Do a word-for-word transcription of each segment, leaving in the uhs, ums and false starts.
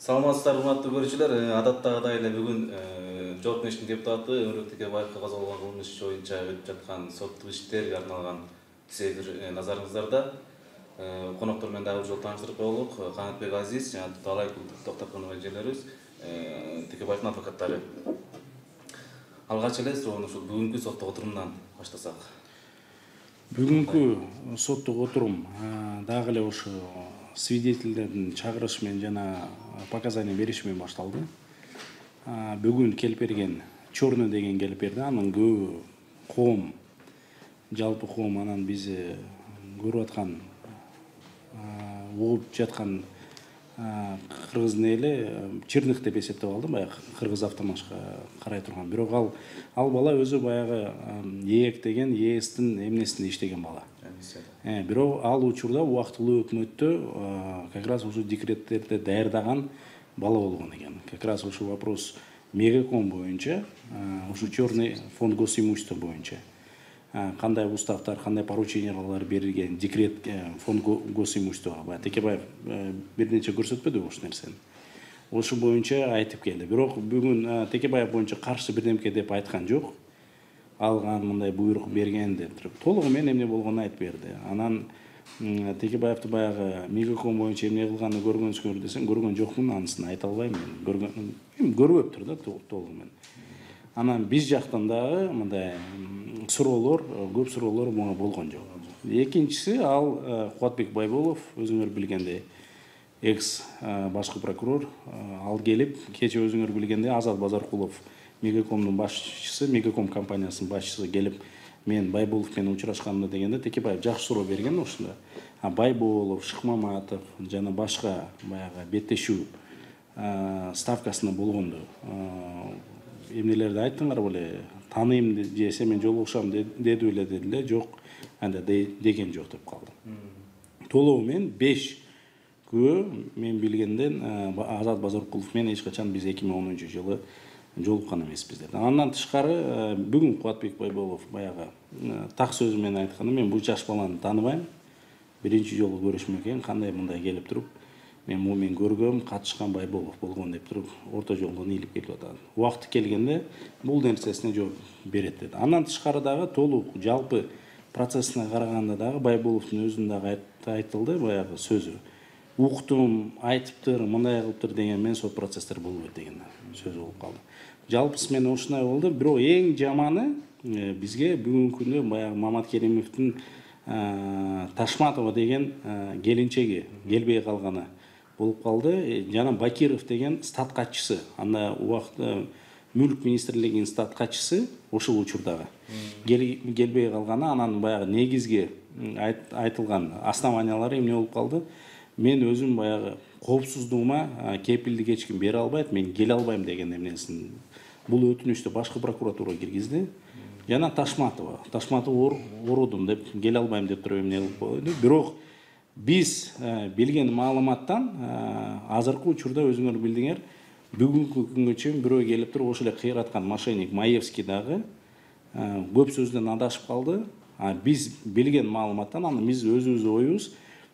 Саламатсыздар, урматтуу көрүүчүлөр. Адаттагыдай эле бүгүн Жогорку Кеңештин депутаты Өмүрбек Текебаевге козголгон кылмыш иши боюнча өтүп жаткан соттук иштерге арналган түзөйдүр назарыңыздарда. Коноктор менен дагы бир жолу тааныштырып коелук. Канатбек Азиз жана Талай Токтоткон эжелерибиз, Текебаевдин адвокаттары. Алгач эле суроону ушул бүгүнкү соттук отурумдан баштасак. Бүгүнкү соттук отурум дагы эле ошо свидетелдердин чакырышы менен жана показания бериши менен башталды. Бүгүн келип берген Черный деген келип берди. Анын көбү коом, жалпы коом анан биз көрүп аткан, угуп жаткан кыргыздын эли Черных деп эсептеп алды, баягы кыргыз автомашка карай турган. Бирок ал ал бала өзү баягы ээк деген ээстин эмнесинде иштеген бала. Бирок ал учурда убактылуу өкмөттө как раз ушу декреттерди даярдаган бала болгон экен. Как раз ушу вопрос Мегаком боюнча, ушу Черный фонд госимущества боюнча кандай уставтар, кандай поручениялар берилген декрет фонд госимуществого. Текебаев бир нече көрсөтпөдүбү ушул нерсени. Ошол боюнча айтып келди. Бирок бүгүн Текебаев боюнча каршы бирдемке деп айткан жок. Алган мындай буйрук берген деп туруп толугу менен эмне болгонун айтып берди. Анан Текебаевди баягы Мегаком боюнча эмне кылганын көргөнсүңөр десең, көргөн жокмун, анысын айта албайм мен. Көргөн, эми көрбөптүр да толугу менен. Анан биз жактан дагы мындай суроолор, көп суроолор буга болгон жок. Экинчиси ал Кубатбек Байболов, өзүңөр билгендей, экс башкы прокурор, ал келип, кече өзүңөр билгендей Азат Базаркулов, Мегакомдун башчысы, Мегаком компаниясынын башчысы келип, мен Байболов менен учурашканымда дегенде Текебаев жакшы суроо берген ушунда. А Байболов, Шыкмаматов жана башка баягы беттешүү ставкасында болгонду эмнелерди айттыңар беле, тааныйм десе мен жолугушам деди беле дедиле, жок, анда деген жок деп калды. Толугу менен беш күбө мен билгенден Азат Базаркулов менен эч качан биз эки миң онунчу жылы жолуккан эмеспиз деди. Андан тышкары бүгүн Кубатбек Байболов баягы так сөзү менен айтканда, мен бул жаш баланы тааныбайм. Биринчи жолу көрүшмөк экен, кандай мындай келип туруп, мен муну мен көргөм, катышкан Байболов болгон деп туруп орто жолдон ийилип келип атат. Убакыты келгенде бул нерсесине жооп берет деди. Андан тышкары дагы толук жалпы процессине караганда дагы Байболовдун өзүнүн дагы айтылды баягы сөзү. Уктум, айтыптыр, мындай кылыптыр деген мен сот процесстер болбойт деген сөз болуп калды. Жалпысы мен ушундай болду. Бирок эң жаманы бизге бүгүнкү күндө баягы Мамат Керимовдун Ташматова деген келинчеги келбей калганы болуп калды. Жана Бакиров деген статкатчысы, анда убакытта мүлк министрлигинин статкатчысы ошол учурдагы келбей калганы, анан баягы негизги айтылган основаниялары эмне болуп калды? Мен өзүм баягы коопсуздугума кепилдик эч ким бере албайт, мен келе албайм деген эмнесин бул өтүнүштү башкы прокуратура киргизди. Жана Ташматова, Ташматова орудум деп, келе албайм деп туруп эмне кылып койду. Бирок биз билген маалыматтан азыркы учурда өзүңөр билдиңер, бүгүнкү күнгө чейин бирөө келип туруп ошол эле кыйраткан мошенник Маевский дагы көп сөздөн адашып калды. Биз билген маалыматтан, аны биз өзүбүздүн оюбуз,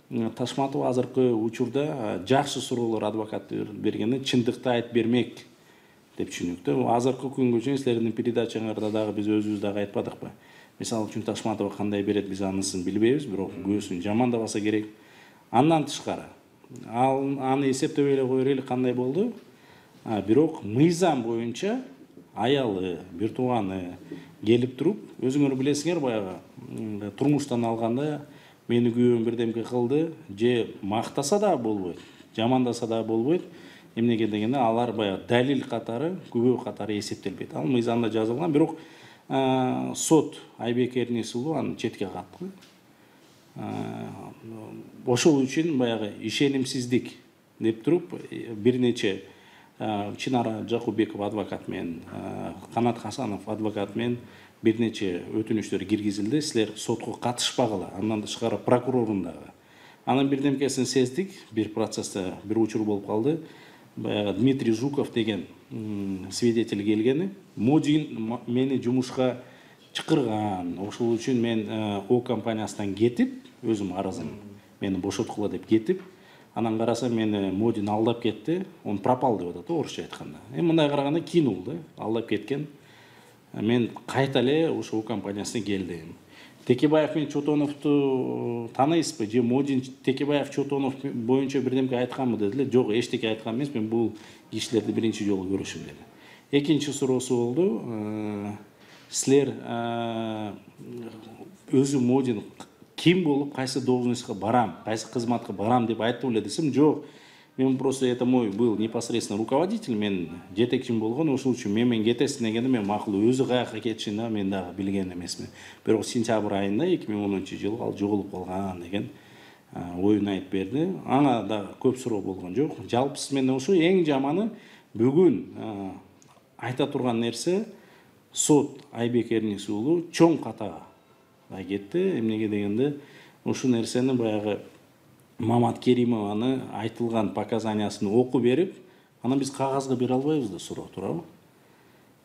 Ташматова азыркы учурда жакшы суроолор адвокат бергенде чындыкты айтып бермек деп түшүнүктө. Азыркы күнгө чейин силердин передачаңарда дагы биз өзүбүз дагы айтпадыкпы? Мисалы үчүн Ташматова кандай берет, биз анысын билбейбиз, бирок көзүн жамандабаса керек. Андан тышкары ал аны эсептебей эле кое берели, кандай болду? Бирок мыйзам боюнча аялы, бир тууганы келип туруп, өзүңөр билесиңер, баягы турмуштан алганда мени күйөөм бирдемке кылды, же мактаса да болбойт, жамандаса да болбойт. Эмнеге дегенде алар баягы далил катары, күбө катары эсептелбейт. Ал мыйзамда жазылган, бирок сот Айбек Эрнис уулу аны четке катты. Ошол үчүн баягы ишенимсиздик деп туруп бир нече Чынара Жакубеков адвокат менен, Канат Хасанов адвокат менен бир нече өтүнүчтөр киргизилди. Силер сотко катышпагыла. Андан тышкары прокурордун дагы. Анын бирдемкесин сездик. Бир процессте бир учур болуп калды. Баягы Дмитрий Жуков деген свидетель келгени, Модин мени жумушка чакырган. Ошол үчүн мен О компаниясынан кетип, өзүм арызым мени бошоткула деп кетип, Анан карасам мени Модин алдап кетти, он пропал деп атат орусча айтканда. Эми мындай караганда кинул да, алдап кеткен. Мен кайта эле ошол компаниясына келдим. Текебаев менен Чотоновду тааныйсызбы? Же Модин Текебаев Чотонов боюнча бирдемке айтканбы деди эле. Жок, эчтеке айткан эмес, мен бул кишилерди биринчи жолу көрүшүм деди. Экинчи суроосу болду. Силер өзү Модин ким болуп кайсы должностька барам, кайсы кызматка барам деп айтты эле десем, жок. Мен просто это мой был непосредственно руководитель, мен жетекчим болгон, ошол үчүн мен менен кетесиң дегенде мен макул, өзү каяка кетишин да мен дагы билген эмесмин. Бирок сентябрь айында эки миң онунчу жылы ал жоголуп калган деген оюн айтып берди. Ага да көп суроо болгон жок. Жалпысы мен ошо эң жаманы бүгүн айта турган нерсе сот Айбек Эрнис уулу чоң катага кетти. Эмнеге дегенде ушул нерсени баягы Мамат Керимованы айтылган показаниясын окуп берип, анан биз кагазга бере албайбыз да суроо, туурабы?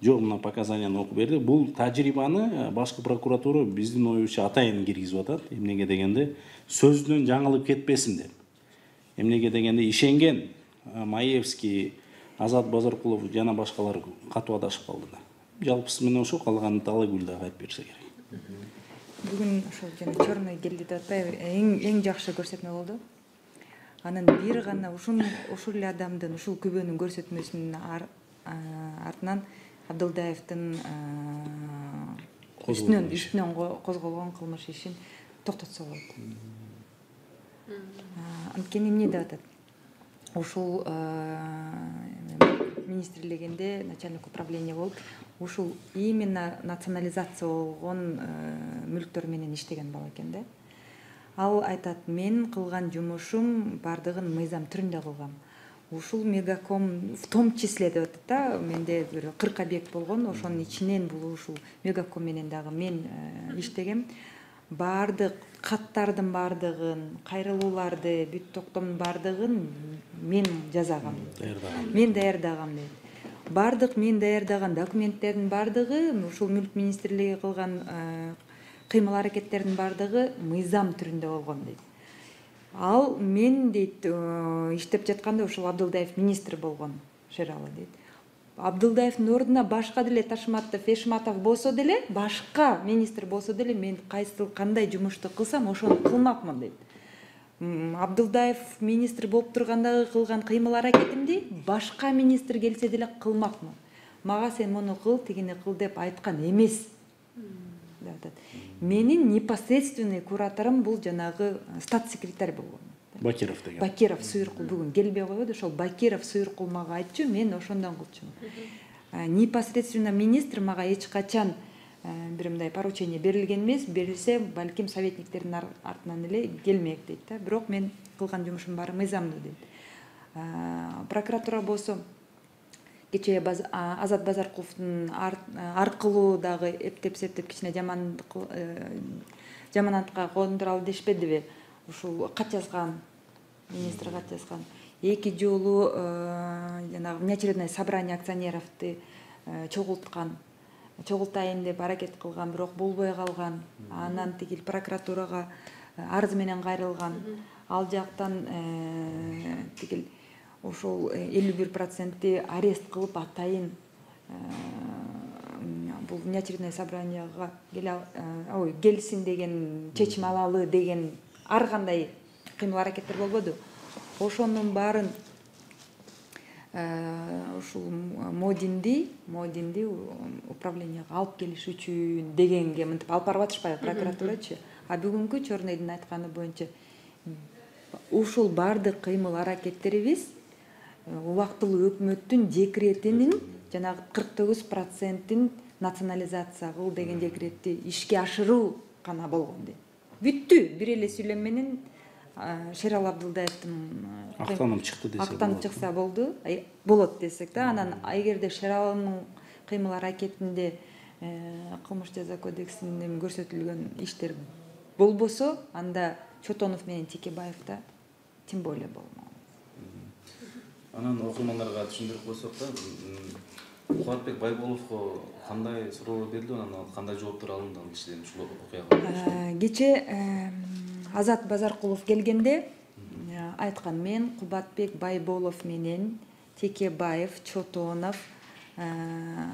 Жок, мына показанияны окуп берди. Бул тажрыйбаны башкы прокуратура биздин оюбузча атайын киргизип атат. Эмнеге дегенде сөзүнөн жаңылып кетпесин деп. Эмнеге дегенде ишенген Маевский, Азат Базаркулов жана башкалар катуу адашып калды да. Жалпысы мен ошо, калганын Талайгүл дагы айтып берсе керек. Бүгүн ошол жана черный келди деп атпайбы, эң эң жакшы көрсөтмө болду. Анан бир гана ушул ушул эле адамдын ушул күбөнүн көрсөтмөсүнүн артынан Абдылдаевдин үстүнөн үстүнөн козголгон кылмыш ишин токтотсо болот. Анткени эмне деп атат? Ушул министрлигинде начальник управления болуп, ушул именно национализация болгон мүлктөр менен иштеген бала экен да. Ал айтат, мен кылган жумушум бардыгын мыйзам түрүндө кылгам. Ушул Мегаком в том числе деп атат да, менде бир кырк объект болгон, ошонун ичинен бул ушул Мегаком менен дагы мен иштегем. Бардык каттардын бардыгын, кайрылууларды, бүт токтомдун бардыгын мен жасагам. Мен даярдагам дейт. Бардык мен даярдаган документтердин бардыгы, ушул мүлк министрлиги кылган кыймыл аракеттердин бардыгы мыйзам түрүндө болгон дейт. Ал мен дейт иштеп жатканда ушул Абдылдаев министр болгон Шералы дейт. Абдылдаевдин ордуна башка деле Ташматов, Эшматов болсо деле, башка министр болсо деле мен кайсы кандай жумушту кылсам ошону кылмакмын дейт. Абдылдаев министр болуп тургандагы кылган кыймыл аракетимди башка министр келсе деле кылмакмын. Мага сен муну кыл, тигини кыл деп айткан эмес. деп атат. Менин непосредственный кураторум бул жанагы статс-секретарь болгон. Бакиров деген. Бакиров Суйркул бүгүн келбей койбойду, ошол Бакиров Суйркул мага айтчу, мен ошондон кылчумун. Непосредственно министр мага эч качан бир мындай поручение берилген эмес, берилсе балким советниктердин артынан эле келмек дейт да. Бирок мен кылган жумушум баары мыйзамдуу дейт. Прокуратура болсо кечээ Азат Базаркуловдун аркылуу дагы эптеп септеп кичине жаманатка кондуралы дешпедиби? Ушул кат жазган, министр кат жазган. Эки жолу жанагы внеочередное собрание акционеровду чогулткан, чогултайын деп аракет кылган, бирок болбой калган. Анан тигил прокуратурага арыз менен кайрылган. Ал жактан тигил ошол элүү бир проценти арест кылып атайын бул внеочередное собранияга ой келсин деген, чечим алалы деген ар кандай кыймыл аракеттер болбоду. Ошонун баарын ушул Модинди, Модинди управленияга алып келиш үчүн дегенге мынтип алып барып атышпайбы прокуратурачы. А бүгүнкү Чорныйдын айтканы боюнча ушул бардык кыймыл аракеттерибиз убактылуу өкмөттүн декретинин жанагы кырк тогуз процентин национализация кыл деген декретти ишке ашыруу гана болгон дейт. Бүттү. Бир эле сүйлөм менен Шерал Абдылдаевдин актанып чыкты десек болот. Актанып чыкса болду, болот десек да. Анан эгерде Шералдын кыймыл аракетинде кылмыш жаза кодексинде көрсөтүлгөн иштер болбосо, анда Чотонов менен Текебаевда тем более болмок. Анан окуймандарга түшүндүрүп койсок да, Кубатбек Байболовго кандай суроолор берилди, анан кандай жооптор алынды ал кишиден ушул окуяга? Кече Азат Базаркулов келгенде айткан: мен Кубатбек Байболов менен Текебаев, Чотонов,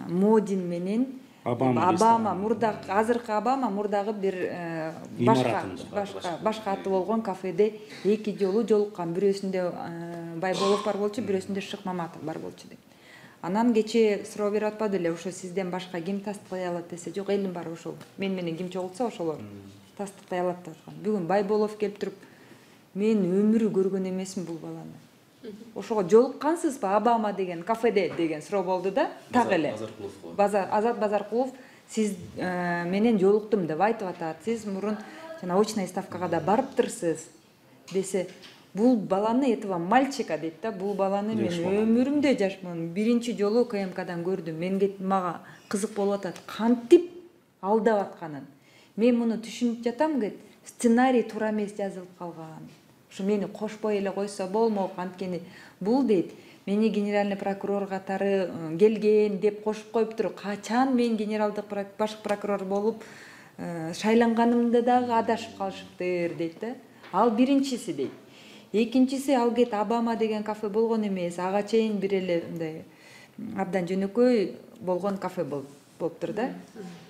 Модин менен Обама мурда азыркы Обама мурдагы бир башка башка башка аты болгон кафеде эки жолу жолуккан. Бирөөсүндө Байболов бар болчу, бирөөсүндө Шыкмаматов бар болчу деп. Анан кечээ суроо берип атпады эле, ошо сизден башка ким тастыктай алат десе, жок, элим бар, ошол мен менен ким чогултса ошолор тастыктай алат деп аткан. Бүгүн Байболов келип туруп: мен өмүрү көргөн эмесмин бул баланы. Ошого жолуккансызбы Обама деген кафеде деген суроо болду да. Так эле Базар Азат Базаркулов сиз менен жолуктум деп айтып атат. Сиз мурун жана очная ставкага да барыптырсыз десе, бул баланы, этого мальчика дейт да, бул баланы мен өмүрүмдө жашман биринчи жолу КМКдан көрдүм. Менге мага кызык болуп атат кантип алдап атканын. Мен муну түшүнүп жатам дейт. Сценарий туура эмес жазылып калган. Ушу мени кошпой эле койсо болмок, анткени бул дейт, мени генеральный прокурор катары келген деп кошуп коюп туруп, качан мен генералдык башкы прокурор болуп шайланганымда дагы адашып калышыптыр дейт да. Ал биринчиси дейт. Экинчиси, ал кет Обама деген кафе болгон эмес, ага чейин бир эле мындай абдан жөнөкөй болгон кафе болуптур да.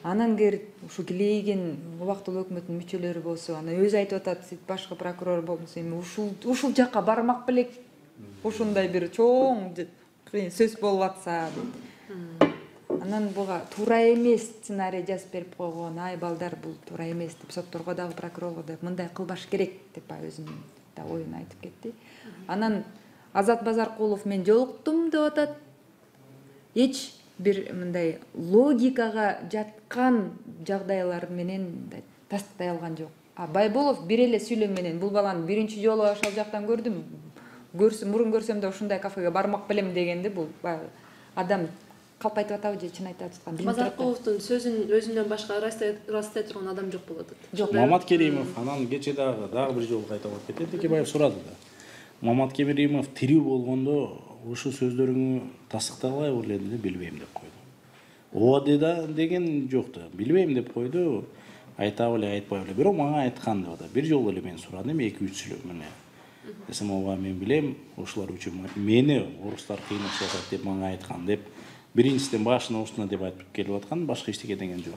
Анан кер ушу килейген убактылуу өкмөттүн мүчөлөрү болсо, ана өзү айтып атат, сиз башкы прокурор болсо эми ушул ушул жакка бармак белек ушундай бир чоң сөз болуп атса дейт. Анан буга туура эмес сценарий жазып берип койгон. Ай балдар, бул туура эмес деп сотторго дагы прокурорго да мындай кылбаш керек деп өзүнүн да оюн айтып кетти. Анан Азат Базаркулов мен жолуктум деп атат. Эч бир мындай логикага жаткан жагдайлар менен тастыктай алган жок. А Байболов бир эле сүйлөм менен бул баланы биринчи жолу ошол жактан көрдүм. Көрсөм, мурун көрсөм да ушундай кафеге бармак белем дегенди, бул адам калп айтып атабы же чын айтып аткан билбейм. Базаркуловдун сөзүн өзүнөн башка ырастай турган адам жок болуп атат. Жок. Маматкеримов анан кече дагы дагы бир жолу кайталап кетет. Текебаев сурады да. Маматкеримов тирүү болгондо ушу сөздөрүңү тастыктай албайбы эле билбейм деп койду. Ооба да деген жок да. Билбейм деп койду. Айтабы эле айтпайбы эле. Бирок мага айткан деп атат. Бир жолу эле мен сурадым, эки үч сүйлөп мене. Десем, ооба мен билем, ошолор үчүн мени орустар кыйнап жатат деп мага айткан деп. Биринчиден башына устуна деп айтып келип аткан, башка эчтеке деген жок.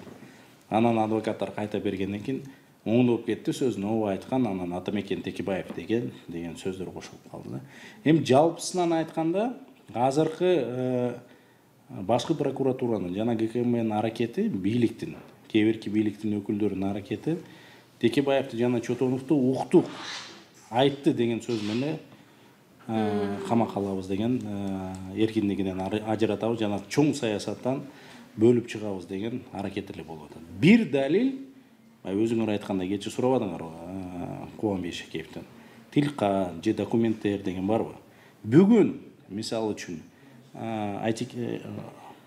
Анан адвокаттар кайта бергенден кийин оңдоп кетти, сөзүн ооба айткан, анан Атамекен Текебаев деген деген сөздөр кошулуп калды да. Эми жалпысынан айтканда, азыркы башкы прокуратуранын жана ГКМнын аракети, бийликтин, кээ бирки бийликтин өкүлдөрүнүн аракети Текебаевди жана Чотоновду уктук айтты деген сөз менен камакка алабыз деген, эркиндигинен ажыратабыз жана чоң саясаттан бөлүп чыгабыз деген аракет эле болуп атат. Бир далил, өзүңөр айткандай кече сурабадыңарбы Кубанбек Ишекеевден, тилка же документтер деген барбы? Бүгүн мисалы үчүн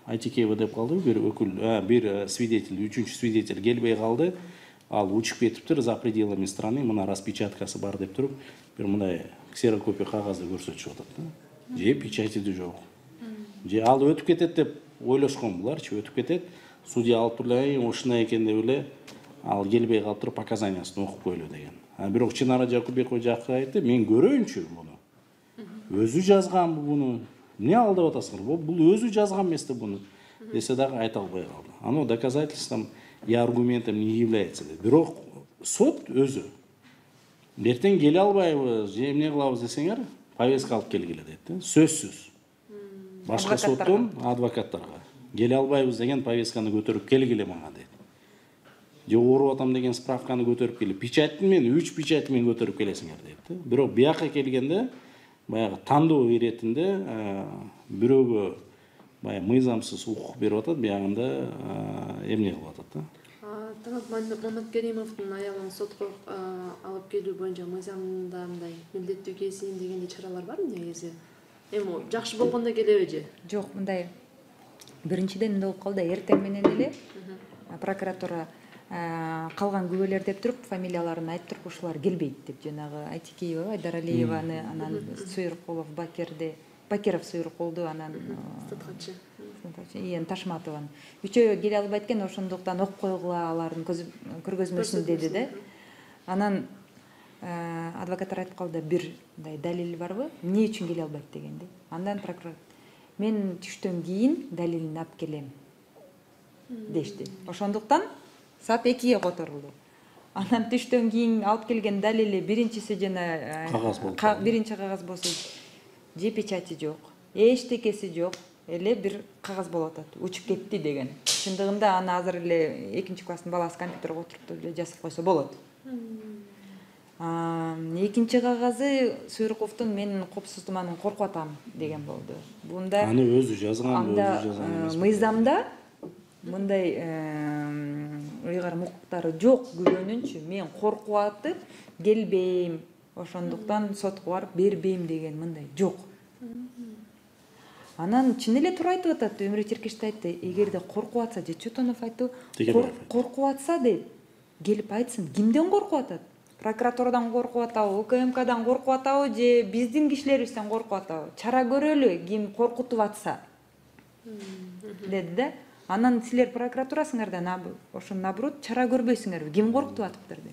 Айтикеева деп калды, бир өкүл, бир свидетель, үчүнчү свидетель келбей калды. Ал учуп кетиптир за пределами страны, мына распечаткасы бар деп туруп, бир мындай ксерокопия кагазды көрсөтүшүп атат да. Же печати да жок. Же ал өтүп кетет деп ойлошкон буларчы, өтүп кетет. Судья алып туруп, ушундай экен деп эле ал келбей калып туруп показаниясын окуп койлу деген. А бирок Чынара Жакупбекова жакка айтты, мен көрөйүнчү муну. Өзү жазганбы буну? Эмне алдап атасыңар? Бул өзү жазган эмес да буну. Десе дагы айта албай калды. Аны доказательством и аргументом не является. Бирок сот өзү эртең келе албайбы, же эмне кылабыз десеңер, повестка алып келгиле дейт да. Сөзсүз. Башка соттон адвокаттарга келе албайбыз деген повестканы көтөрүп келгиле мага дейт. Же ооруп атам деген справканы көтөрүп келип, печаттын мен үч печати менен көтөрүп келесиңер дейт да. Бирок бияка келгенде баягы тандоо иретинде бирөөгө баягы мыйзамсыз укук берип атат, биягында эмне кылып атат да. Талант Маматкеримовдун аялын сотко алып келүү боюнча мыйзамда мындай милдеттүү кесин дегендей чаралар барбы негизи? Эми жакшы болгондо келеби же? Жок, мындай биринчиден эмне болуп калды, эртең менен эле прокуратура калган күбөлөр деп туруп фамилияларын айтып туруп ушулар келбейт деп, жанагы Айтикеева, Айдаралиеваны, анан Суйрукулов, Бакерде, Бакеров Суйрукулду, анан Статхатчы Иен Ташматованы. Үчөө келе албайт экен, ошондуктан окуп койгула алардын көргөзмөсүн деди да. Анан адвокаттар айтып калды, бир мындай далил барбы, эмне үчүн келе албайт дегенди. Андан прокурор мен түштөн кийин далилин алып келем дешти. Ошондуктан саат экиге которулду. Анан түштөн кийин алып келген далили биринчиси жана кагаз болуп биринчи кагаз болсо же печати жок, эчтекеси жок, эле бир кагаз болуп атат. Учуп кетти деген. Чындыгында аны азыр эле экинчи класстын баласы компьютерге отуруп эле жазып койсо болот. Экинчи кагазы Суйруковдун мен коопсуздугуман коркуп атам деген болду. Бунда аны өзү жазган, өзү жазган эмес. Мыйзамда мындай ыйгарым укуктары жок күбөнүнчү. Мен коркуп атып келбейм, ошондуктан сотко барып бербейм деген мындай жок. Анан чын эле туура айтып атат, Өмүрбек Черкешев айтты, эгерде коркуп атса, же Чотонов айтты, коркуп атса деп келип айтсын. Кимден коркуп атат? Прокуратурадан коркуп атабы, УКМКдан коркуп атабы, же биздин кишилерибизден коркуп атабы? Чара көрөлү, ким коркутуп атса. Деди да. Анан силер прокуратурасыңардан ошо наоборот чара көрбөйсүңөрбү? Ким коркутуп атыптыр деп.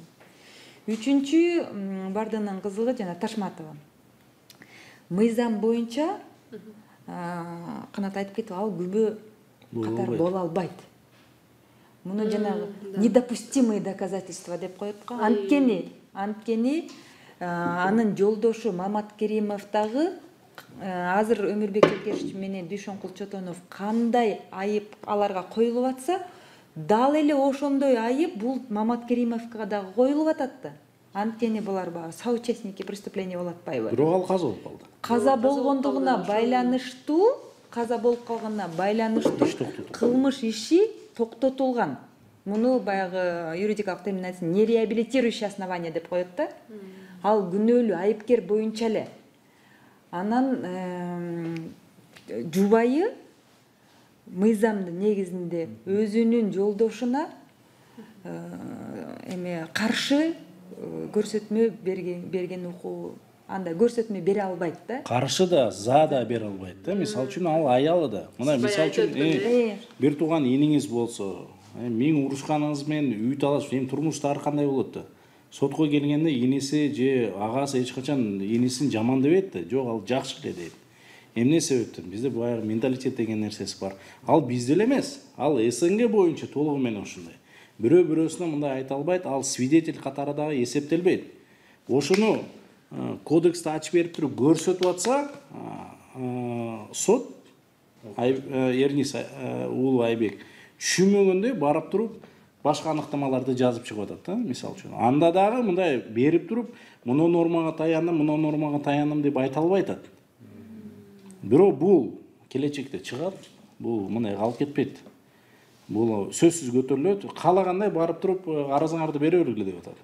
Үчүнчү бардыгынын кызыгы жана Ташматова. Мыйзам боюнча Канат айтып кетип, ал күбө катары боло албайт. Муну жанагы недопустимые доказательства деп коет го. Анткени, анткени анын жолдошу Маматкеримов дагы азыр Өмүрбек Черкешев менен Дүйшөнкул Чотонов кандай айып аларга коюлуп атса, дал эле ошондой айып бул Маматкеримовго дагы коюлуп атат да. Анткени булар баягы соучастники преступления болуп атпайбы? Бирок ал каза болуп калды. Каза болгондугуна байланыштуу, каза болуп калганына байланыштуу кылмыш иши токтотулган. Муну баягы юридикалык терминациясы нереабилитирующее основание деп коет да. Ал күнөөлүү айыпкер боюнча эле. Анан жубайы мыйзамдын негизинде өзүнүн жолдошуна эме каршы көрсөтмө берген укугу, анда көрсөтмө бере албайт да. Каршы да, за да бере албайт да. Мисалы үчүн ал аялы да. Мына мисалы үчүн бир тууган иниңиз болсо, миң урушканыңыз менен үй талаш, эми турмушта ар кандай болот да. Сотко келгенде иниси же агасы эч качан инисин жамандабайт да. Жок, ал жакшы эле дейт. Эмне себептен? Бизде баягы менталитет деген нерсеси бар. Ал бизде эле эмес. Ал СНГ боюнча толугу менен ошондой. Бирөө бирөөсүнө мындай айта албайт, ал свидетель катары дагы эсептелбейт. Ошону кодексти ачып берип туруп көрсөтүп атса, сот Эрнис уулу Айбек түшүнмөгөндөй барып туруп башка аныктамаларды жазып чыгып атат да, мисалы үчүн. Анда дагы мындай берип туруп, муну нормага таяндым, муну нормага таяндым деп айта албай атат. Бирок бул келечекте чыгат, бул мындай калып кетпейт. Бул сөзсүз көтөрүлөт, каалагандай барып туруп арызыңарды бере бергиле деп атат.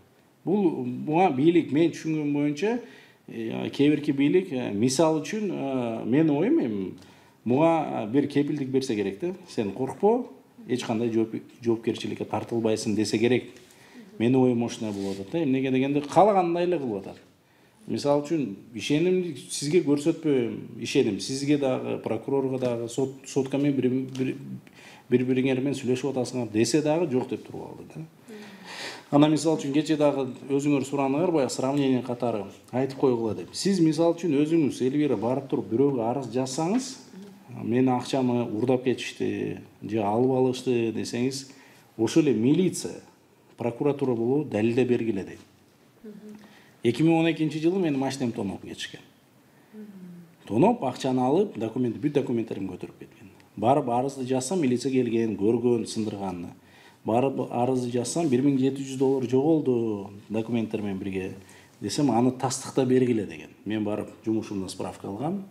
Бул буга бийлик мен түшүнгөн боюнча кээ бирки бийлик мисал үчүн менин оюм эми буга бир кепилдик берсе керек да. Сен коркпо, эч кандай жоопкерчиликке тартылбайсың десе керек. Менин оюм ошондой болуп атат да. Эмнеге дегенде каалагандай эле кылып атат. Мисалы үчүн ишенимди сизге көрсөтпөйм, ишеним сизге дагы, прокурорго дагы, сот сотко менен бири-бириңер менен сүйлөшүп атасыңар десе дагы жок деп туруп алды да. Ана мисалы үчүн кече дагы өзүңөр сураныңар, баягы сравнение катары айтып койгула деп. Сиз мисалы үчүн өзүңүз Элвира барып туруп бирөөгө арыз жазсаңыз, менин акчамы урдап кетишти, же алып алышты десеңиз, ошол эле милиция, прокуратура болобу далилдеп бергиле дейт. эки миң он экинчи жылы менин машинем тоноп кетишкен. Тоноп, акчаны алып, документ, бүт документтеримди көтөрүп кеткен. Барып арызды жазсам, милиция келген, көргөн, сындырганын. Барып арызды жазсам, бир миң жети жүз доллар жоголду документтер менен бирге. Десем, аны тастыкта бергиле деген. Мен барып жумушумдан справка алгам.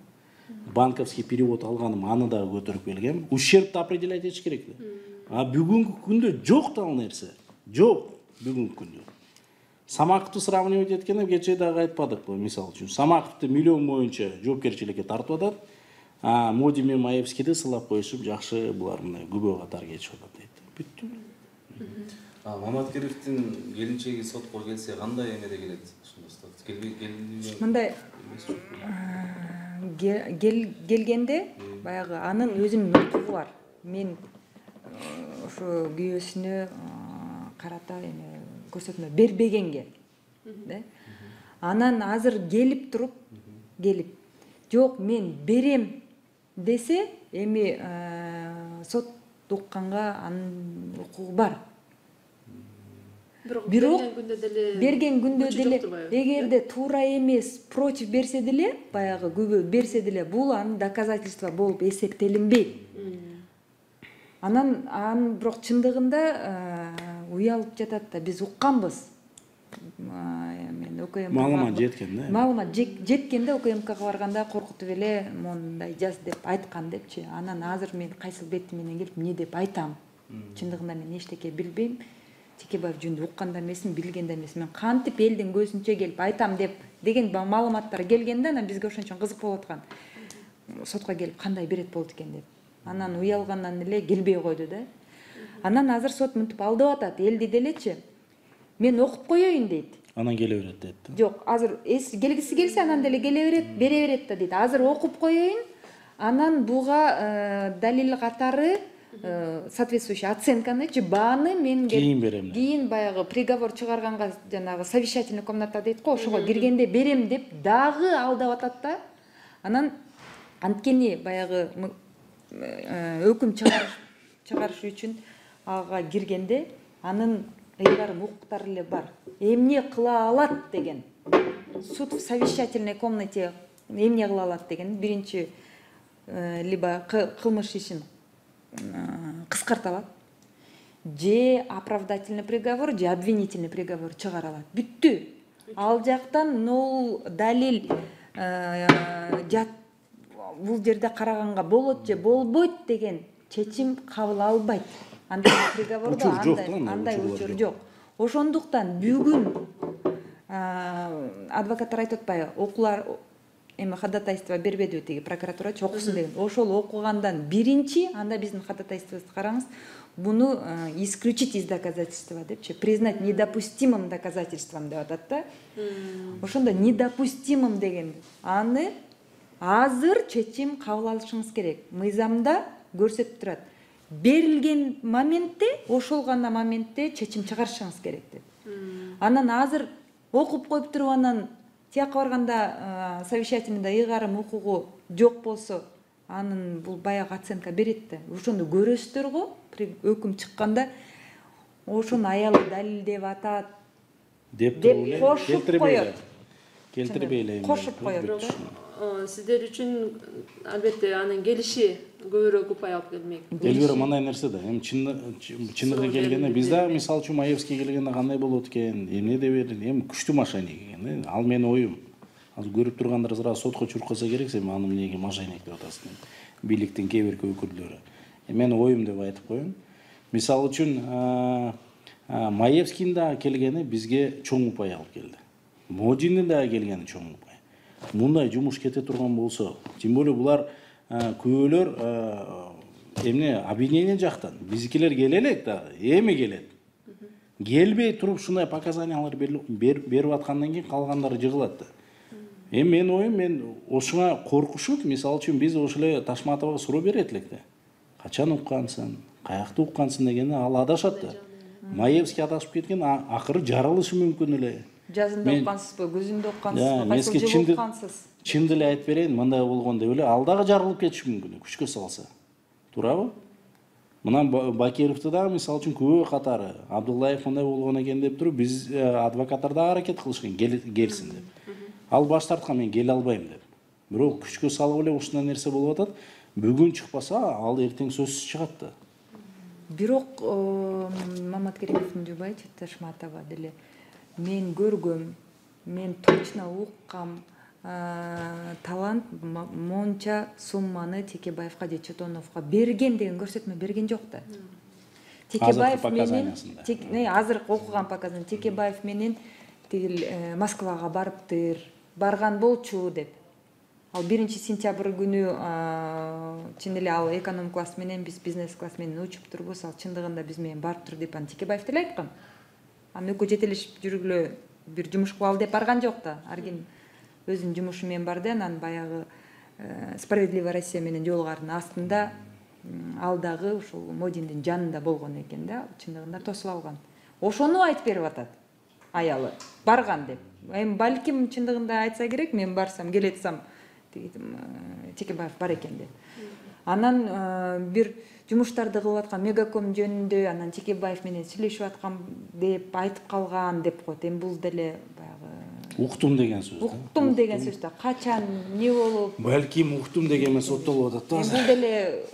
Банковский перевод алганым, аны дагы көтөрүп келгем. Ущербты определять этиш керек да. А бүгүнкү күндө жок да ал нерсе. Жок бүгүнкү күндө. Самаковду сравнивать эткенде кечээ дагы айтпадыкпы, мисалы үчүн. Самаковду миллион боюнча жоопкерчиликке тартып атат. А Моди менен Маевскийди сылап коюшуп, жакшы булар мындай күбө катары кетишип атат дейт. Бүттү. А Маматкериевдин келинчеги сотко келсе кандай эмеде келет? Келбей келбей. Мындай келгенде баягы анын өзүнүн укугу бар. Мен ошо күйөөсүнө карата эме көрсөтмө бербегенге, да? Анан азыр келип туруп келип жок мен берем десе, эми сот укканга анын укугу бар. Бирок Бирок берген күндө деле берген күндө күчү деле жокту баягы. эгерде туура эмес против берсе деле, баягы күбө берсе деле бул анын доказательство болуп эсептелинбейт. Анан анын бирок чындыгында уялып жатат да, биз укканбыз. Мен ОКМК маалымат жеткен да. Маалымат жеткенде ОКМКга барганда коркутуп эле мондай жаз деп айткан депчи. Анан азыр мен кайсыл бети менен келип эмне деп айтам? Чындыгында мен эчтеке билбейм. Текебаев жөнүндө укканда эмесмин, билгенде эмесмин. Мен кантип элдин көзүнчө келип айтам деп деген маалыматтар келгенде, анан бизге ошон үчүн кызык болуп аткан. Сотко келип кандай берет болот экен деп. Анан уялгандан эле келбей койду да. Анан азыр сот мынтип алдап атат, элди делечи. Мен окуп коеюн дейт. Анан келе берет дейт. Жок, азыр келгиси келсе анан деле келе берет, бере берет да дейт. Азыр окуп коеюн. Анан буга далил катары соответствующий оценканы, бааны мен кийин берем. Кийин баягы приговор чыгарганга жанагы совещательный комната дейт го, ошого киргенде берем деп дагы алдап атат да. Анан анткени баягы өкүм чыгарыш үчүн ага киргенде анын ыйгарым укуктары эле бар. Эмне кыла алат деген. Суд в совещательной комнате эмне кыла алат деген биринчи либо кылмыш ишин кыскарта алат, же оправдательный приговор, же обвинительный приговор чыгара алат. Бүттү. Ал жактан нол далил жат бул жерде караганга болот же болбойт деген чечим кабыл албайт. Андай приговордо андай учур жок. Ошондуктан бүгүн адвокаттар айтып атпайбы, окуулар эми ходатайство бербедиби тиги прокуратурачы окусун деген. Ошол окугандан биринчи анда биздин ходатайствобузду караңыз, буну исключить из доказательства депчи, признать недопустимым доказательством деп атат да. Ошондо недопустимым деген аны азыр чечим кабыл алышыңыз керек. Мыйзамда көрсөтүп турат. Берилген моментте, ошол гана моментте чечим чыгарышыңыз керек деп. Анан азыр окуп коюп туруп анан тияка барганда совещательныйда ыйгарым укугу жок болсо, анын бул баягы оценка берет да. Ошону көрөсүздөр го, өкүм чыкканда ошону аялы далилдеп атат деп кошуп коет. Келтирбей эле. Кошуп коет. Сиздер үчүн албетте анын келиши көбүрөөк упай алып келмек. Элбир мындай нерсе да. Эми чындыгы келгенде биз да мисалы үчүн Маевский келгенде кандай болот экен, эмне деп берди, эми күчтүү мошенник экен. Ал менин оюм. Азыр көрүп тургандар сразу сотко чуркаса керек, сен аны эмнеге мошенник деп атасың. Бийликтин кээ бирки өкүлдөрү. Менин оюм деп айтып коеюн. Мисалы үчүн Маевскийдин да келгени бизге чоң упай алып келди. Модиндин да келгени чоң упай. Мындай жумуш кете турган болсо, тем более булар көөлөр эмне обвинение жактан биздикилер келе элек да, эми келет. Келбей туруп ушундай показаниялар берип аткандан кийин калгандары жыгылат да. Эми менин оюм, мен ошуга коркушуп, мисалы үчүн биз ошол эле Ташматовага суроо берет элек да. Качан уккансың, каякта уккансың дегенде ал адашат да. Маевский адашып кеткен, акыры жарылышы мүмкүн эле. Жазында уккансызбы, көзүндө уккансызбы, кайсыл жылы уккансыз? Чын деле айтып берейин, мындай болгон деп эле ал дагы жарылып кетиши мүмкүн, күчкө салса. Туурабы? Мынан Бакировду дагы мисалы үчүн күбө катары Абдуллаев мындай болгон экен деп туруп, биз адвокаттар да аракет кылышкан келсин деп. Ал баш тарткан, мен келе албайм деп. Бирок күчкө салып эле ушундай нерсе болуп атат. Бүгүн чыкпаса, ал эртең сөзсүз чыгат да. Бирок Маматкеримовдун жубайчы Ташматова деле мен көргөм, мен точно уккам, талант монча сумманы Текебаевга же Четоновго берген деген көрсөтмө берген жок да. Текебаев менен азыркы окуган показания Текебаев менен тигил Москвага барыптыр, барган болчу деп. Ал биринчи сентябрь күнү чын эле ал эконом класс менен биз бизнес класс менен учуп турбуз, ал чындыгында биз менен барыптыр деп аны Текебаев деле айткан. Аны экөө жетелешип жүргүлө бир жумуш кылалы деп барган жок да. Ар ким өзүнүн жумушу менен барды, анан баягы Справедливая Россия менен жолугардын астында ал дагы ушул Модиндин жанында болгон экен да, чындыгында тосуп алган. Ошону айтып берип атат аялы, барган деп. эми балким чындыгында айтса керек, мен барсам келетсам Текебаев бар экен деп. Анан бир жумуштарды кылып аткан Мегаком жөнүндө анан Текебаев менен сүйлөшүп аткан деп айтып калган деп коет. Эми бул деле баягы уктум деген сөз. Уктум деген сөз да качан эмне болуп? Балким уктум дегенмен соттолуп атат да. Эми бул деле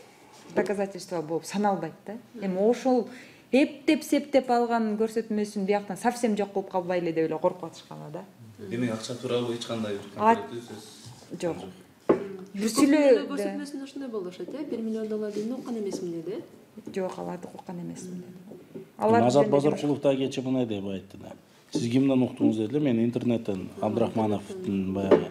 доказательство болуп саналбайт да. Эми ошол эптеп септеп алган көрсөтмөсүн бияктан совсем жок кылып калбайлы деп эле коркуп атышкан да. Демек акча тууралуу эч кандай бир конкреттүү сөз жок. Бир сүйлөө көрсөтмөсүндө ошондой болушат э, бир миллион доллар дейм уккан эмесмин деди. Жок, аларды уккан эмесмин деди. Азат Базаркулов да кечээ мындай деп айтты да. Сиз кимден уктуңуз деди эле, мен интернеттен Абдрахмановдун баягы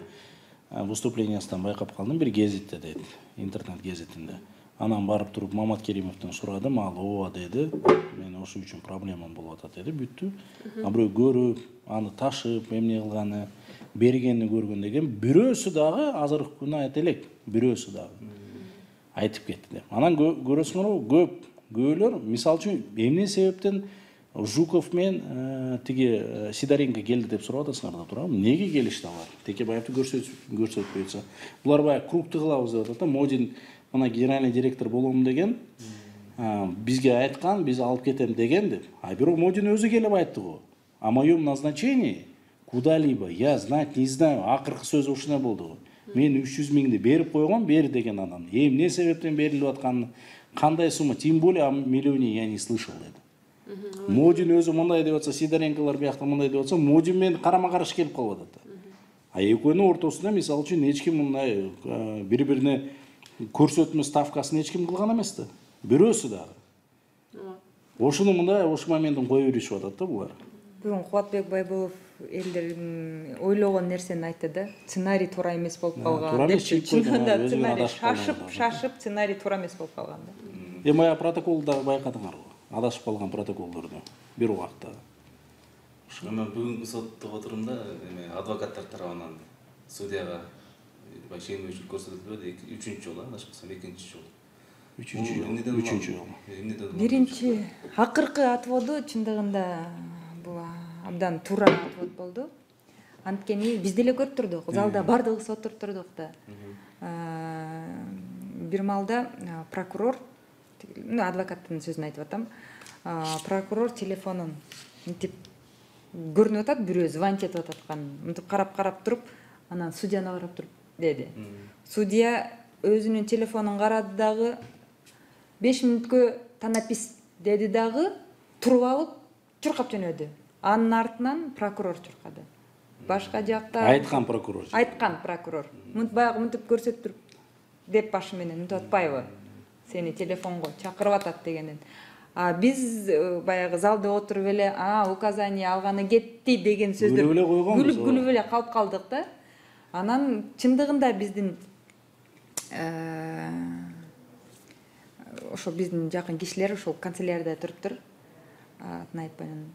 выступлениясынан байкап калдым, бир гезитте дейт, интернет гезитинде. Анан барып туруп Мамат Керимовдон сурадым, ал ооба деди. Мен ошол үчүн проблемам болуп атат деди, бүттү. А бирөө көрүп, аны ташып, эмне кылганы, бергенин көргөн деген бирөөсү дагы азыркы күнү айта элек, бирөөсү дагы айтып кетти деп. Анан көрөсүңөрбү, көп көөлөр, мисалы үчүн эмне себептен Жуков менен тиги Сидоренко келди деп сурап атасыңар да туурабы? Неге келишти алар? Текебаевди көрсөтпөйсө. Булар баягы кругты кылабыз деп атат да. Модин мына генеральный директор болом деген, бизге айткан, биз алып кетем деген деп. А бирок Модин өзү келип айтты го. О моем назначении куда-либо я знать не знаю. Акыркы сөзү ушундай болду го. Мен үч жүз миңди берип койгом, бер деген анан. Эмне себептен берилип атканын, кандай сумма, тем более о миллионе я не слышал деди. Модин өзү мындай деп атса, Сидоренколор биякта мындай деп атса, Модин менен карама-каршы келип калып атат. А экөөнүн ортосунда мисалы үчүн эч ким мындай бири-бирине көрсөтмө ставкасын эч ким кылган эмес да. Бирөөсү дагы. Ошону мындай ош моменттин кое беришип атат да булар. Бүгүн Кубатбек Байболов элдердин ойлогон нерсени айтты да. Сценарий туура эмес болуп калган. Чындыгында сценарий шашып, шашып, сценарий туура эмес болуп калган да. Эми ая протоколду байкадыңар го. Адашып калган протоколдорду бир убакта. Анан бүгүнкү соттук отурумда эме адвокаттар тарабынан судьяга ченемдүүлүк көрсөтүлбөдү. Үчүнчү жолу, адашпасам экинчи жолу. Үчүнчү жолу. Үчүнчү жолу. Биринчи акыркы отводу чындыгында бул абдан туура отвод болду. Анткени биз деле көрүп турдук, залда бардыгыбыз отуруп турдук да. Бир малда прокурор, адвокаттын сөзүн айтып атам, прокурор телефонун мынтип көрүнүп атат, бирөө звонить этип аткан. Мынтип карап-карап туруп, анан судьяны карап туруп деди. Судья өзүнүн телефонун карады дагы, беш мүнөткө танапис деди дагы, туруп алып чуркап жөнөдү. Анын артынан прокурор чуркады. Башка жакта айткан прокурор. Айткан прокурор. Мынтип баягы мынтип көрсөтүп туруп деп башы менен мынтип атпайбы? Сени телефонго чакырып атат дегенден. А биз баягы залда отуруп эле, а указание алганы кетти деген сөздөр күлүп эле койгонбуз. Күлүп-күлүп эле калып калдык да. Анан чындыгында биздин ошо биздин жакын кишилер ошол канцелярияда туруптур. Атын айтпайын.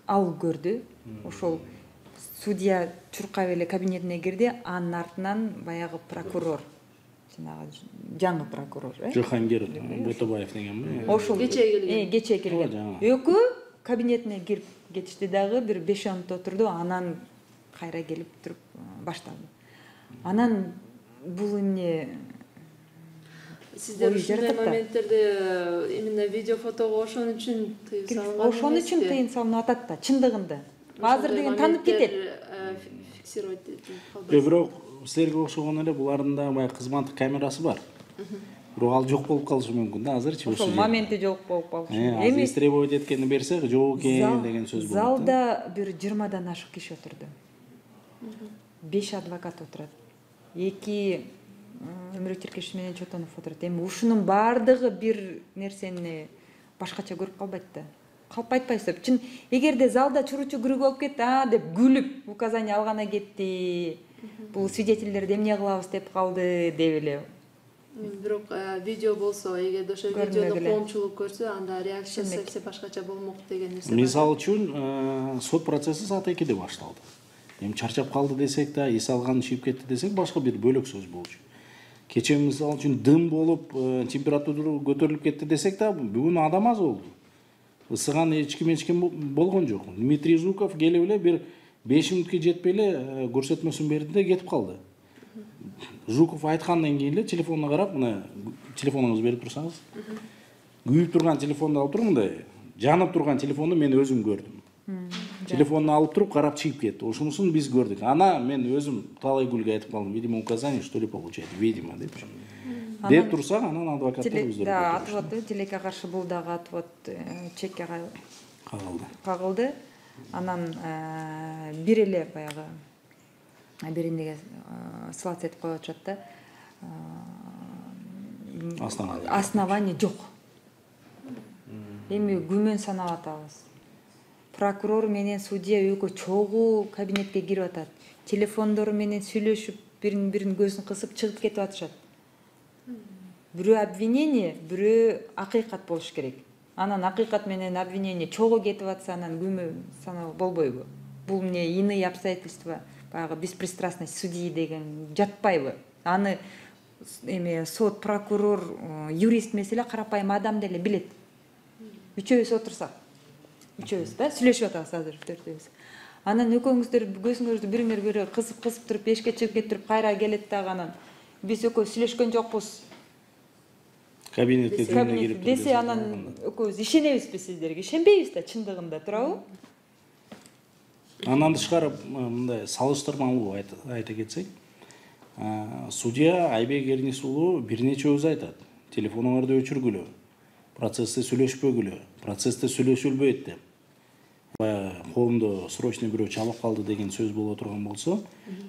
Ал көрдү. Ошол судья чуркап эле кабинетине кирди, анын артынан баягы прокурор, жанагы жаңы прокурор, э? Жохангер Ботобаев дегенби? Ошол кечээ келген. Э, кечээ келген. Экөө кабинетине кирип кетишти дагы, бир беш мүнөт отурду, анан кайра келип туруп башталды. Анан бул эмне сиздер ушундай моменттерде именно видео фотого ошон үчүн тыйым салынган. Ошон үчүн тыйым салынып атат да, чындыгында. Азыр деген танып кетет. Фиксировать Бирок силерге окшогон эле булардын да баягы кызматтык камерасы бар. Бирок ал жок болуп калышы мүмкүн да азырчы. Ошол моменти жок болуп калышы. Эми истребовать эткенди берсек, жок экен деген сөз болот. Залда бир жыйырмадан ашык киши отурду. беш адвокат отурат. эки Өмүрөк Черкешев менен Чотонов отурат. Эми ушунун баардыгы бир нерсени башкача көрүп калбайт да. Калп айтпайсыз. Чын эгерде залда чуручу күрүк болуп кетти, а деп күлүп указание алгана кетти. Бул свидетелдерди эмне кылабыз деп калды деп эле. Бирок видео болсо, эгерде ошо видеону коомчулук көрсө, анда реакциясы совсем башкача болмок деген нерсе. Мисалы үчүн, сот процесси саат экиде башталды. Эми чарчап калды десек да, эс алган чийип кетти десек, башка бир бөлөк сөз болчу. Кечээ мисалы үчүн дым болуп, температура көтөрүлүп кетти десек да, бүгүн адам аз болду. Ысыган эч ким эч ким болгон жок. Дмитрий Жуков келип эле бир беш мүнөткө жетпей эле көрсөтмөсүн берди да кетип калды. Жуков айткандан кийин эле телефонуна карап, мына телефонуңузду берип турсаңыз, күйүп турган телефонду алып туруп мындай жанып турган телефонду мен өзүм көрдүм. Телефонду алып туруп карап чыгып кетти. Ошонусун биз көрдүк. Ана мен өзүм талай гүлгө айтып калдым. Видимо, указание что ли получает, видимо депчи. Деп турсак, анан адвокаттар өздөрү. Да, отвод, тилекке каршы бул дагы отвод чекке кагылды. Кагылды. Анан бир эле баягы бир эмнеге ссылаться этип коюп атышат да. Основание. Основание жок. Эми күмөн санап атабыз. Прокурор менен судья экөө чогуу кабинетке кирип атат. Телефондору менен сүйлөшүп, бирин бирин көзүн кысып чыгып кетип атышат. Бирөө обвинение, бирөө акыйкат болуш керек. Анан акыйкат менен обвинение чогуу кетип атса, анан күмө саноо болбойбу? Бул эмне иные обстоятельства, баягы беспристрастность судьи деген жатпайбы? Аны эме сот, прокурор, юрист эмес эле карапайым адам деле билет. Үчөөбүз отурсак, үчөөбүз да сүйлөшүп атабыз азыр төртөөбүз. Анан экөөңүздөр көзүңөрдү бириңер бирөө кысып-кысып туруп, эшикке чыгып кетип, кайра келет дагы анан биз экөө сүйлөшкөн жокпуз. Кабинетке кимге кирип десе, анан экөөбүз ишенебизби сиздерге? Ишенбейбиз да чындыгында, туурабы? Андан тышкары мындай салыштырмалуу айта кетсек, судья Айбек Эрнис уулу бир нече өзү айтат. Телефонуңарды өчүргүлө, процессте сүйлөшпөгүлө, процессте сүйлөшүлбөйт деп. Баягы коомдо срочный бирөө чалып калды деген сөз боло турган болсо,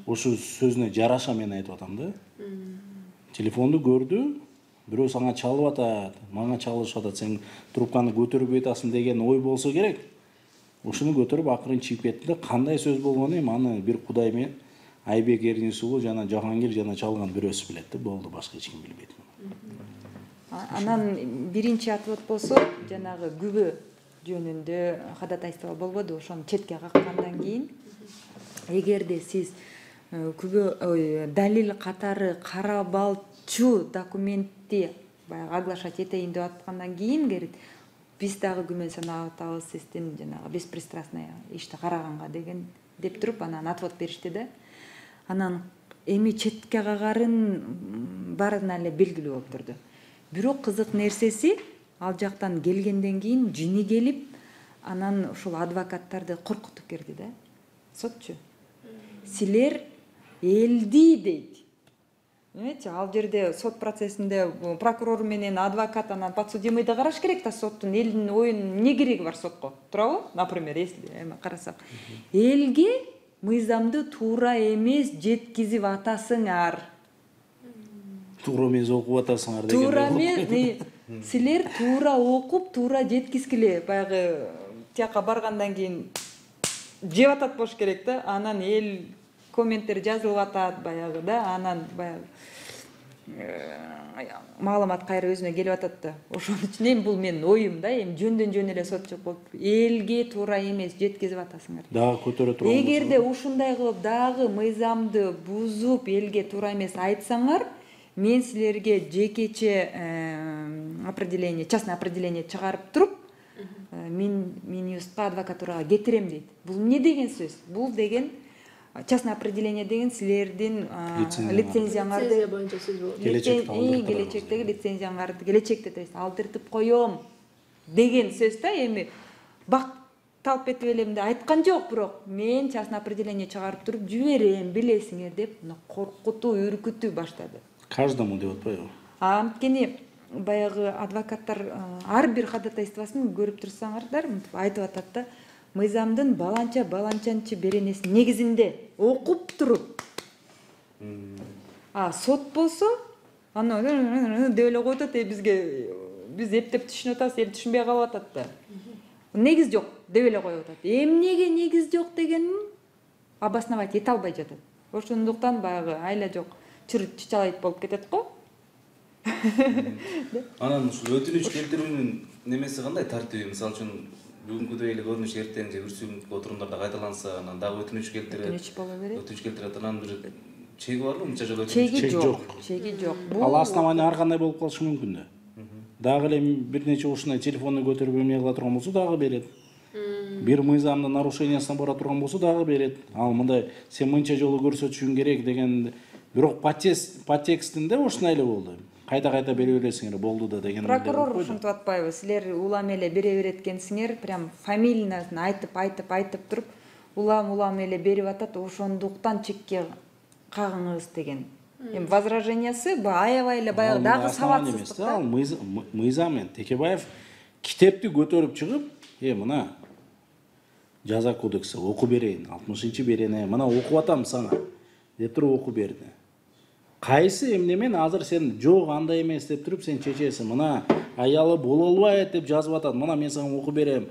ошол сөзүнө жараша мен айтып атам да. Телефонду көрдү, бирөө сага чалып атат, мага чалышып атат, сен трубканы көтөрбөй атасың деген ой болсо керек. Ушуну көтөрүп акырын чыгып кетти да, кандай сөз болгонун эми аны бир Кудай менен Айбек Эрнис уулу жана Жахангир жана чалган бирөөсү билет да, болду, башка эч ким билбейт. Анан биринчи отвод болсо, жанагы күбө жөнүндө ходатайство болбоду, ошону четке каккандан кийин, эгерде сиз күбө далил катары карабалчу документти баягы оглашать этейин деп аткандан кийин керит, биз дагы күмөн санап атабыз сиздин жанагы беспристрастный ишти караганга деген деп туруп, анан отвод беришти да. Анан эми четке кагарын баарына эле белгилүү болуп турду. Бирок кызык нерсеси, ал жактан келгенден кийин жини келип, анан ушул адвокаттарды коркутуп кирди да. Сотчу. Силер элди дейт. Эметчи, ал жерде сот процессинде прокурор менен адвокат, анан подсудимый да караш керек да, соттун элдин оюн эмне кереги бар сотко, туурабы? Например, если эми карасак, элге мыйзамды туура эмес жеткизип атасыңар. Туура эмес окуп атасыңар деген. Туура эмес, силер туура окуп, туура жеткизгиле. Баягы тияка баргандан кийин жеп атат болуш керек да. Анан эл комменттер жазылып атат баягы да. Анан баягы маалымат кайра өзүнө келип атат да. Ошон үчүн эми бул менин оюм да, эми жөндөн жөн эле сотчу болуп, элге туура эмес жеткизип атасыңар. Дагы көтөрө турган. Эгерде ушундай кылып дагы мыйзамды бузуп, элге туура эмес айтсаңар, мен силерге жекече определение, частное определение чыгарып туруп, мен Минюстка адвокатурага кетирем дейт. Бул эмне деген сөз? Бул деген частное определение деген силердин лицензияңарды, лицензия боюнча сөз болот. Келечектеги лицензияңарды келечекте алдыртып коем деген сөз да. Эми бак талп этип элем деп айткан жок, бирок мен частное определение чыгарып туруп жиберем, билесиңер деп коркутуу, үркүтүү баштады. Каждому деп атпайбы? Анткени баягы адвокаттар ар бир ходатайствосын көрүп турсаңардар, мынтип айтып атат да, мыйзамдын баланча баланчанчы беренесин негизинде окуп туруп. А сот болсо, аны деп эле коюп атат, бизге биз эптеп түшүнүп атабыз, эл түшүнбөй калып атат да. Негиз жок деп эле коюп атат. Эмнеге негиз жок дегенин обосновать эте албай жатат. Ошондуктан баягы айла жок чыр-чычалайт болуп кетет го. Анан ушул өтүнүч келтирүүнүн немеси кандай тартиби? Мисалы үчүн бүгүнкүдөй эле көрүнүш эртең же бүрсүгүнкү отурумдарда кайталанса, анан дагы өтүнүч келтирет. Өтүнүч боло берет. Өтүнүч келтирет, анан бир чеги барбы? Мынча жолу чеги жок. Чеги жок. Ал основание ар кандай болуп калышы мүмкүн да. Дагы эле бир нече ушундай телефонду көтөрүп эмне кыла турган болсо дагы берет. Бир мыйзамдын нарушениясына бара турган болсо дагы берет. Ал мындай сен мынча жолу көрсөтүшүң керек деген, бирок подтекстинде ушундай эле болду. Кайта-кайта бере бересиңер, болду да деген. Прокурор ушинтип атпайбы? Силер улам эле бере берет экенсиңер, прям фамилиясын айтып, айтып, айтып туруп, улам улам эле берип атат, ошондуктан чекке кагыңыз деген. Эми возражениясы бу аябай эле баягы дагы сабатсыздык да. Ал мыйзам менен Текебаев китепти көтөрүп чыгып, э мына жаза кодекси оку берейин, алтымышынчы берене, мына окуп атам сага деп туруп окуп берди. Кайсы эмне менен азыр сен жок андай эмес деп туруп сен чечесиң, мына аялы боло албайт деп жазып атат, мына мен сага окуп берем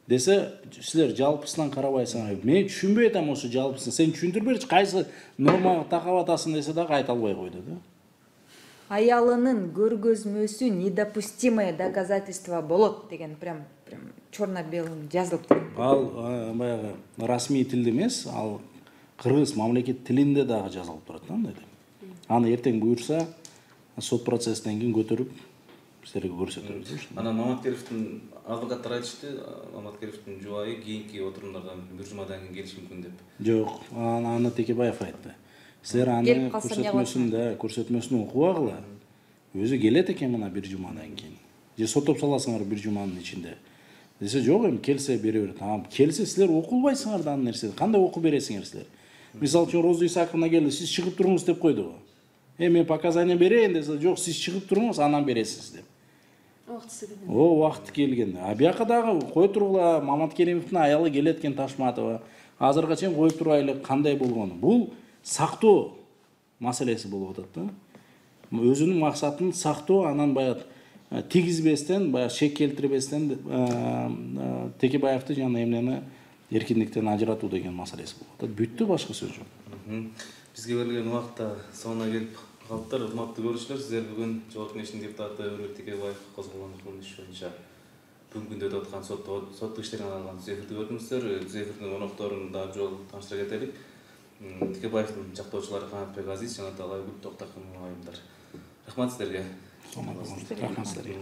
десе, силер жалпысынан карабайсыңар. Мен түшүнбөй атам ошо жалпысын. Сен түшүндүрүп берчи, кайсы нормага такап атасың десе дагы айта албай койду да. Аялынын көргөзмөсү недопустимое доказательство болот деген прям прям черно-белым жазылып турат. Ал баягы расмий тилде эмес, ал кыргыз мамлекет тилинде дагы жазылып турат да андай деп. Аны эртең буюрса сот процесстен кийин көтөрүп силерге көрсөтөрбүз. Анан Маматкеровдун адвокаттар айтышты, Маматкеровдун жубайы кийинки отурумдардан бир жумадан кийин келиши мүмкүн деп. Жок, аны Текебаев айтты. Силер аны көрсөтмөсүндө, көрсөтмөсүн окубагыла. Өзү келет экен мына бир жумадан кийин. Же соттоп саласыңар бир жуманын ичинде. Десе жок, эми келсе бере берет. А келсе силер окулбайсыңар да аны нерсени. Кандай окуп бересиңер силер? Мисалы үчүн Роза Исаковна келди, сиз чыгып туруңуз деп койдубу? Эми мен показания берейин десе, жок, сиз чыгып туруңуз, анан бересиз деп. Убактысы келген. О, убакыты келген. А бияка дагы кой тургула, Маматкеримовдун аялы келет экен Ташматова. Азырга чейин коюп турайлы кандай болгону. Бул сактоо маселеси болуп атат да. Өзүнүн максатын сактоо, анан баягы тийгизбестен, баягы шек келтирбестен Текебаевди жана эмнени эркиндиктен ажыратуу деген маселеси болуп атат. Бүттү, башка сөз жок. Бизге берилген убакта соңуна келип калыптыр. Урматтуу көрүүчүлөр, сиздер бүгүн Жогорку Кеңештин депутаты Өрөт Текебаев козголгон кылмыш боюнча бүгүнкү күндө өтүп аткан соттук иштерине арналган түзөтүлдү көрдүңүздөр. Түзөтүлдүн конокторун дагы жолу тааныштыра кетелик. Текебаевдин жактоочулары Канатбек Азиз жана Талайгүл Токтакын айымдар. Рахмат сиздерге. Рахмат сиздерге.